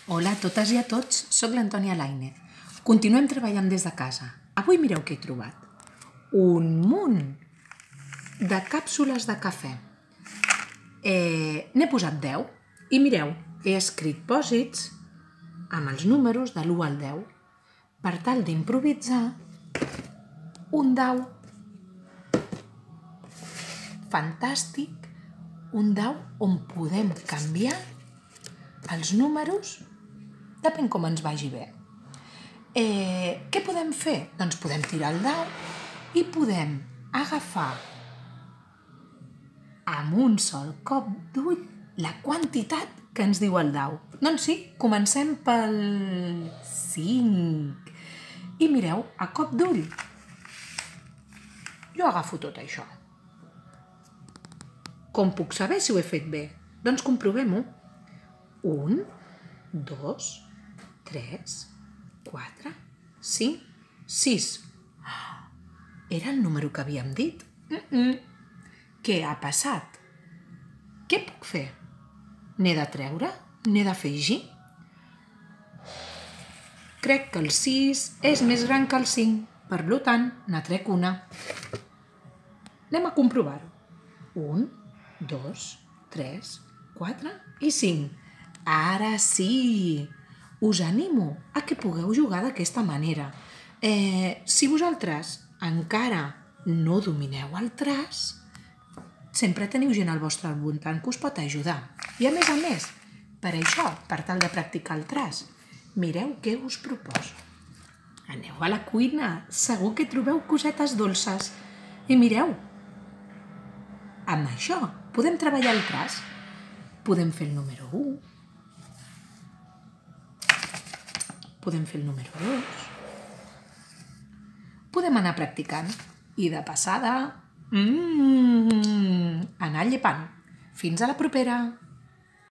Hola a totes i a tots, soc l'Antònia Lainez. Continuem treballant des de casa. Avui mireu què he trobat. Un munt de càpsules de cafè. N'he posat 10 i mireu, he escrit pòsits amb els números de l'1 al 10 per tal d'improvisar un dau. Fantàstic, un dau on podem canviar els números depèn com ens vagi bé. Què podem fer? Doncs podem tirar el dau i podem agafar amb un sol cop d'ull la quantitat que ens diu el dau. Doncs sí, comencem pel 5. I mireu, a cop d'ull, jo agafo tot això. Com puc saber si ho he fet bé? Doncs comprovem-ho. 1, 2, 3, 4, 5, 6. Era el número que havíem dit? Què ha passat? Què puc fer? N'he de treure? N'he d'afegir? Crec que el 6 és més gran que el 5, per tant, ne trec una. Anem a comprovar-ho. 1, 2, 3, 4 i 5. Ara sí! Us animo a que pugueu jugar d'aquesta manera. Si vosaltres encara no domineu el traç, sempre teniu gent al vostre voltant que us pot ajudar. I a més, per això, per tal de practicar el traç, mireu què us proposo. Aneu a la cuina, segur que trobeu cosetes dolces. I mireu, amb això podem treballar el traç. Podem fer el número 1, podem fer el número 2, podem anar practicant i de passada anar llepant. Fins a la propera!